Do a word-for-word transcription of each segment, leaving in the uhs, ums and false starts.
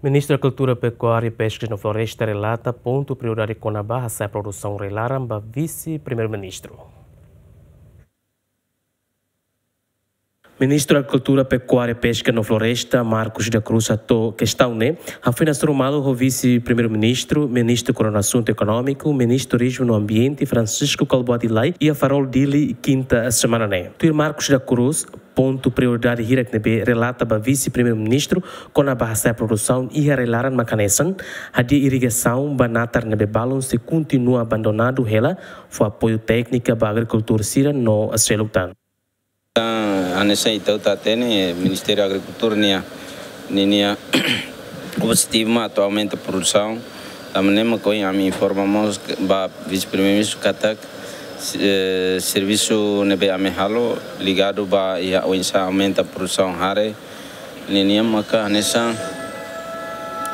Ministru Agrikultura, Pekuária, Peskas no Floresta relata pontu prioridade kona-ba hasa'e produsaun rai-laran ba Vise-Primeiru-Ministru. Ministru Agrikultura, Pekuária, Peska no Floresta, Marcos da Cruz, hato'o kestaun ne'e hafoin hasoru malu ho Vise-Primeiru-Ministru, Ministru Koordena Asuntu Ekonómiku, Ministru Turizmu no Ambiente, Francisco Kalbuadi Lay, iha Farol, Dili, kinta semana ne'e. Tuir Marcos da Cruz, pontu prioridade hirak ne'ebé relata ba Vise-Primeiru-Ministru kona-ba hasa'e produsaun iha rai-laran mak hanesan hadi'a irrigasaun ba natar ne'ebé balun sei kontinua abandonadu hela, fó apoiu téknika ba agrikultór sira no seluk tan. Hanesan ita hotu hatene, Ministériu Agrikultura nian, ninia objetivu mak atu aumenta produsaun. Tanba ne'e mak ohin ami informa mós ba Vise-Primeiru-Ministru katak, eh, servisu ne'ebé ami halo ligadu ba iha oinsá aumenta produsaun hare. Ninia maka hanesan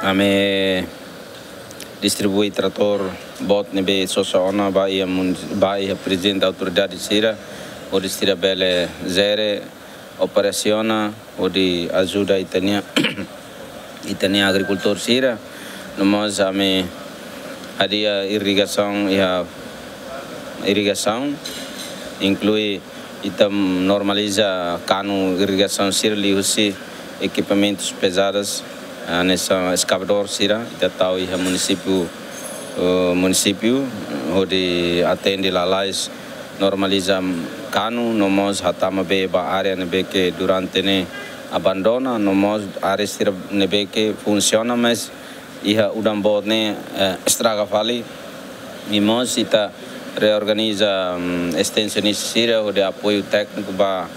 ami distribui tratór boot ne'ebé sosa ona ba iha mun-, ba iha prezidente autoridade sira, hodi sira bele jere, operasiona, hodi ajuda ita-nia, ita-nia agrikultór sira. No mós ami hadi'a irrigasaun, iha irrigasaun, inklui ita normaliza kanu irrigasaun sira liuhusi ekipamentus pezadas, hanesan eskavadór sira, ita tau iha munisípiu, eh, munisípiu, hodi atende lalais normaliza kanu, no mós hatama bee ba área ne'ebé ke durante ne'e abandona, no mós área sira ne'ebé ke funsiona, mas iha udan boot ne'e, eh, estraga fali. I mós ita reorganiza, mm, estensionista sira, hodi apoiu tékniku ba,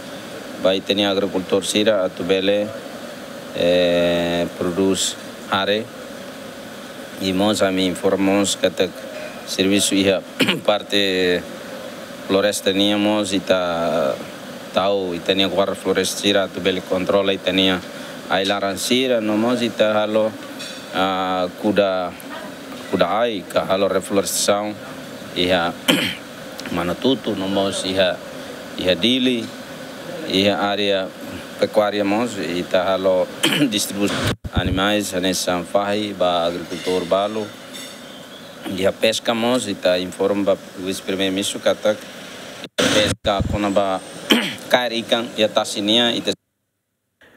ba ita-nia agrikultór sira atu bele, eh, prodús hare. I mós ami informa mós katak servisu iha parte floresta nian mós ita tau ita-nia guarda floresta sira atu bele kontrola ita-nia ai-laran sira, no mós ita halo, ah, kuda, kuda ai ka halo reflorestasaun iha Manatutu, no mós iha, iha Dili, iha área pekuária mós ita halo distribuisaun animais hanesan fahi ba agrikultór balu. Iha peska mós ita informa ba Vise-Primeiru-Ministru katak peska kona-ba kaer ikan iha tasi nian ita.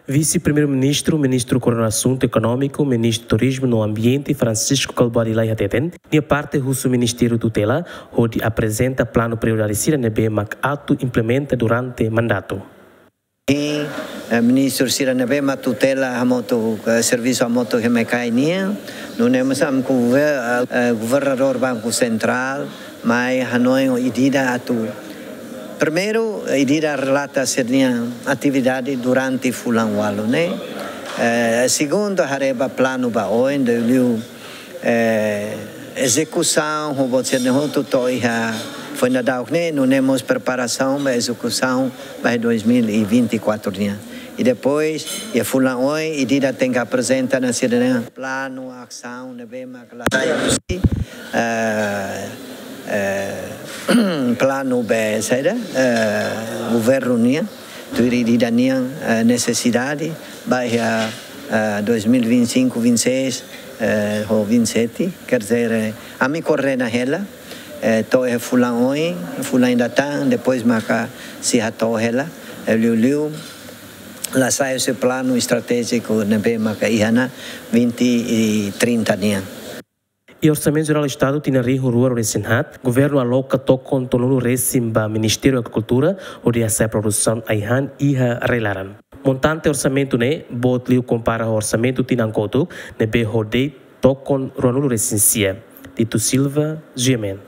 Vise-Primeiru-Ministru, Ministru Koordena Asuntu Ekonómiku, Ministru Turizmu no Ambiente, Francisco Kalbuadi Lay hateten, nia parte husu Ministériu tutela hodi aprezenta planu prioridade sira ne'ebé mak atu implementa durante mandatu. Sim, eh, ministru sira ne'ebé mak tutela hamutuk, eh, servisu hamutuk ho M K I nian, nune'e mós ami gover-, eh, governadór Banku Sentrál, mai hanoin ida-idak atu. Primeiru, ida-idak relata sira-nia atividade durante fulan ualu ne'e. Eh, segundu, haree ba planu ba oin, liuliu, eh, ezekusaun, ho buat sira-ne'e hotu to'o iha foin daudauk ne'e, nune'e mós preparasaun ba ezekusaun ba dois mil e vinte e quatro nian. I depois, iha fulan oin, ida-idak tenke aprezenta ona sira-nia planu asaun ne'ebé mak la sai husi, eh, eh, planu be saida, eh, governu nian, tuir ida-idak nian, eh, nesesidade, ba iha, eh, dois mil e vinte e cinco, vinte e seis, eh, ho vinte e sete, quer dizer, eh, ami koordena hela, eh, to'o iha fulan oin, fulan ida tan, depois maka sei hato'o hela, eh, liuliu, la sai husi planu estratéjiku ne'ebé maka iha ona vinte e trinta nian. Iha Orsamentu Jerál Estadu tinan rihun rua ruanulu-resin-haat, governu aloka tokon tolunulu-resin ba Ministériu Agrikultura, hodi hasa'e produsaun ai-han iha rai-laran. Montante orsamentu ne'e boot liu kompara ho orsamentu tinan kotuk, ne'ebé ho de'it tokon ruanulu-resin-sia. Tito Silva, G M N.